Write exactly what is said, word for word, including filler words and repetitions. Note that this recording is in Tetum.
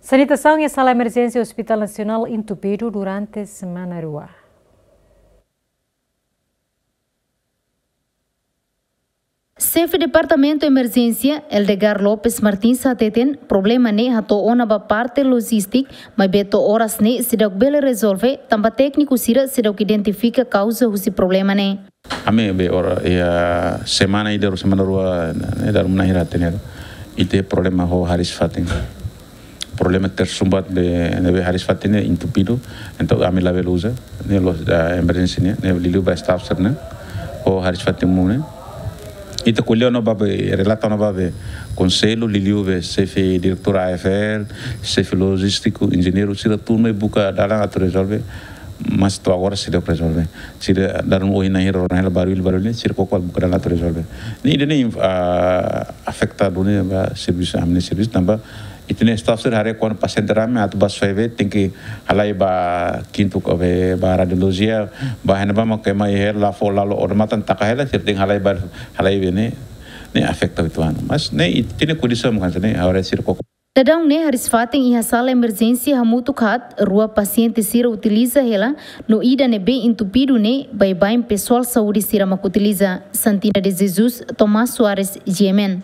Sanitasaun iha sala emerjénsia Hospital Nasionál entupidu durante semana rua. Xefe Departamentu Emerjénsia, Eldegar Lopes Martins, hateten problema ne'e hato'o ona ba parte lojístika, maibé to'o oras ne'e seidauk bele rezolve, tanba tékniku sira seidauk identifika kauza husi problema ne'e. Ami be ora iha semana ida, semana rua, ne'e, dala ruma na'in hira hatene. Ita iha problema ho hariis-fatin. Problema tersumbat be, ne'ebé hariis-fatin ne'e entupidu. Entaun ami labele uza, ne'e loos, ah, emerjénsia ne'e, ne'e liuliu ba staff sira-ne'e, ho hariis-fatin monu ne'e. Ita ko'alia ona ba be, relata ona ba be konsellu, liuliu be xefe diretór A F L, xefe lojístiku, enjeñeiru, sira tun mai buka dalan atu rezolve, mas to'o agora seidauk rezolve. Sira dala ruma ohin na'in hira, ohin na'in hira barullu, barullu ne'e, sira koko buka dalan atu rezolve. Ne'e ida-ne'e, ah, afeta duni ba servisu, ami-nia servisu, tanba ita-nia staff sira haree kuandu pasiente rame atu ba soe be, tenke halai ba kintu ka be, ba radiolojia, ba hena ba mak ema iha hela fó lalo odamatan taka hela, sira tenke halai ba, halai be ne'e, ne'e afeta uitoan. Mas ne'e ita-nia kondisaun mak hanesan ne'e, agora sira koko. Daudaun ne'e hariis-fatin iha sala emerjénsia hamutuk haat, rua pasiente sira utiliza hela, no ida ne'ebé entupidu ne'e baibain pesoál saúde sira mak utiliza. Santina de Jesus, Tomás Soares, G M N.